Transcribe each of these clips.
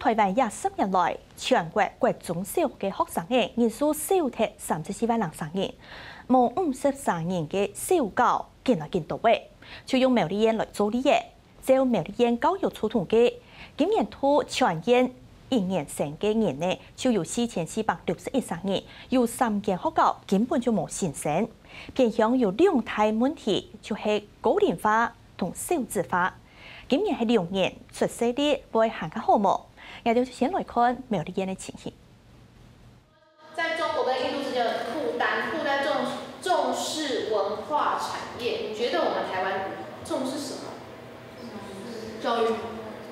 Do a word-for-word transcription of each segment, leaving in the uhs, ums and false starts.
臺灣這十年來，全國國中小个學生仔人數少忒三十四萬零儕人，無五十儕人个小九緊來緊多仔，就用苗栗縣來做例仔。照苗栗縣教育處統計，今年讀全縣一年生个人仔就有四千四百六十一儕人，有三間學校根本就無新生。偏鄉有兩大問題，就係高齡化同少子化。今年係龍年，出世率會還較好無？𠊎兜就先來看苗栗縣个情形。在中国跟印度之间的不丹，不丹重重视文化产业，你觉得我们台湾重视什么？教育。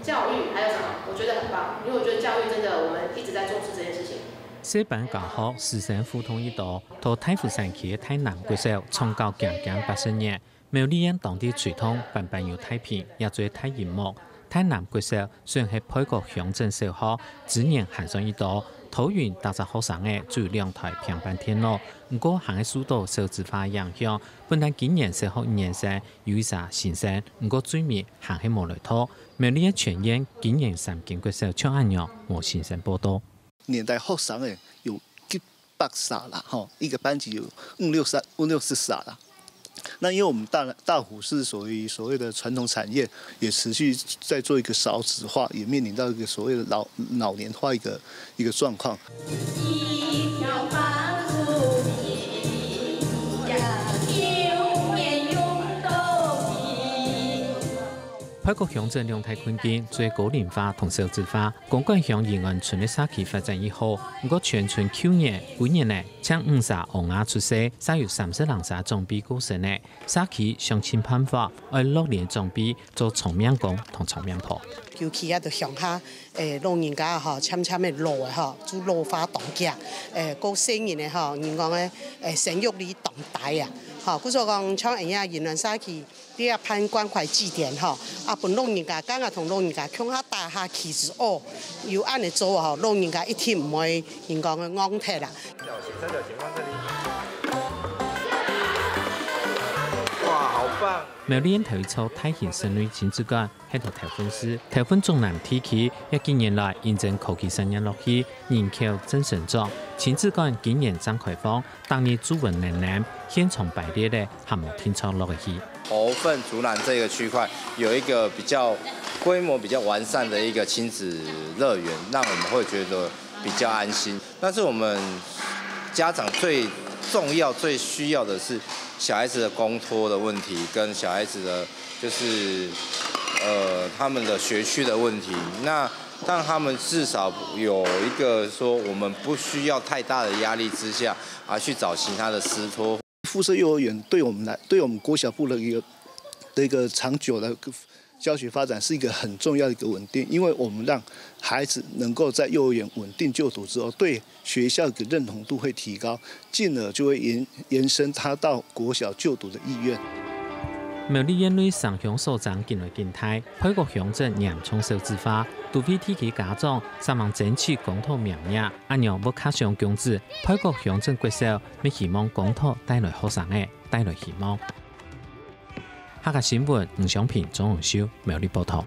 教育还有什么？我觉得很棒，因为我觉得教育真的我们一直在重视这件事情。小班教學、師生互動一道，在大湖山區个大南國小創校行行八十年， 苗栗縣當地推動板板有大屏，也做大螢幕。大南國小雖然係配角鄉鎮小學，資源還算一多，桃園逐隻學生仔只有兩台平板電腦，毋過還係受到少子化影響，本旦今年小學一年生有一儕新生，毋過最尾還係無來讀。苗栗个全縣今年三間國小像恁樣無新生報到。 年代學生仔有一百儕啦，吼，一个班级有五六十五六十儕啦。那因为我们大大湖是属于所谓的传统产业，也持续在做一个少子化，也面临到一个所谓的老老年化一个一个状况。配角鄉鎮兩大困境，就係高齡化同少子化。 公館鄉仁安村个社區發展已好，毋過全村舊年、舊年呢，淨五儕嬰仔出世，煞有三十零儕長輩過身呢。社區想盡辦法，愛落力長輩做長命公同長命婆。尤其啊，就鄉下誒老人家吼，漸漸个老个吼，就老化當遽，誒過細人个吼，人講个誒生育率當低啊，吼，故所講像恁樣仁安社區。 這辦關懷據點吼，啊分老人家，敢若同老人家共下打下棋子哦，有恁仔做吼，老人家一定毋會人講个戇忒啦。哇，好棒！苗栗縣頭一座大型室內親子館，係在頭份市，頭份中南地區，這幾年來因應科技產業落去，人口正成長。親子館今年正開放， 逐日注文輪輪，現場排列个還無定著落去。頭份竹南這個區塊有一個比較規模比較完善的一個親子樂園，讓我們會覺得比較安心。但是我們家長最重要、最需要的是小孩子的公托的問題，跟小孩子的就是呃他們的學區的問題。那让他们至少有一个说，我们不需要太大的压力之下，而去找其他的私托。附设幼儿园对我们来，对我们国小部的一个的一个长久的教学发展是一个很重要的一个稳定，因为我们让孩子能够在幼儿园稳定就读之后，对学校的认同度会提高，进而就会延延伸他到国小就读的意愿。苗栗县内城乡所争紧来紧大，配角乡镇严重少子化，都会地区家长煞猛争取公托名额，恁樣會較想供子，配角乡镇國小乜希望公托帶來學生仔，帶來希望。客家新闻，吴尚平、鍾永修，苗栗报道。